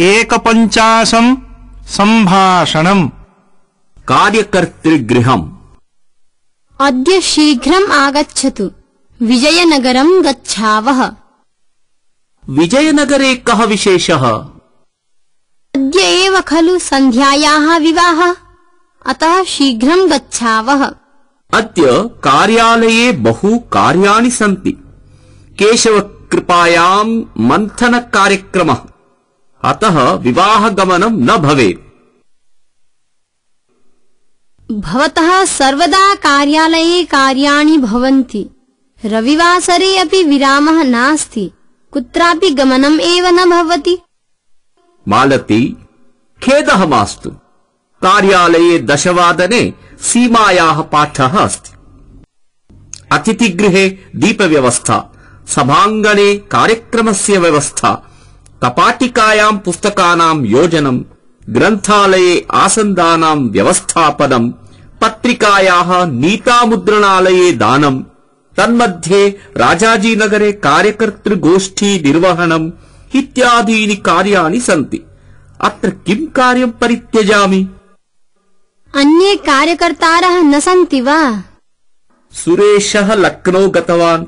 एकपञ्चाशं सम्भाषणम्। कार्यकर्तृगृहम्। अद्य शीघ्रम् आगच्छतु, विजयनगरं गच्छावः। विजयनगरे कः विशेषः? अद्य एव खलु सन्ध्यायाः विवाहः, अतः शीघ्रं गच्छावः। अद्य कार्यालये बहु कार्याणि सन्ति। केशवकृपायां मन्थनकार्यक्रमः, अतः विवाहगमनं न भवेत्। भवतः सर्वदा कार्यालये कार्याणि भवन्ति। रविवासरे अपि विरामः नास्ति, कुत्रापि गमनम् एव न भवति। मालती, खेदः मास्तु। कार्यालये 10 वादने सीमायाः पाठः अस्ति। अतिथिगृहे दीपव्यवस्था, सभाङ्गणे कार्यक्रमस्य व्यवस्था, कपाटिकायां पुस्तकानां योजनं, ग्रन्थालये आसन्दानां व्यवस्थापनं, पत्रिकायाः नीतामुद्रणालये दानं, तन्मध्ये राजाजीनगरे कार्यकर्तृगोष्ठी निर्वहणम् इत्यादीनि कार्याणि सन्ति। अत्र किं कार्यं परित्यजामि? अन्ये कार्यकर्तारः न सन्ति वा? सुरेशः लक्नो गतवान्,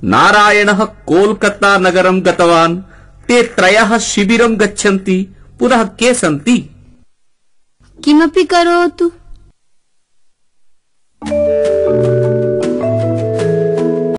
नारायणः कोलकाता नगरं गतवान्। ते 3 शिबिरं गच्छन्ति। पुनः के सन्ति? किमपि करोतु।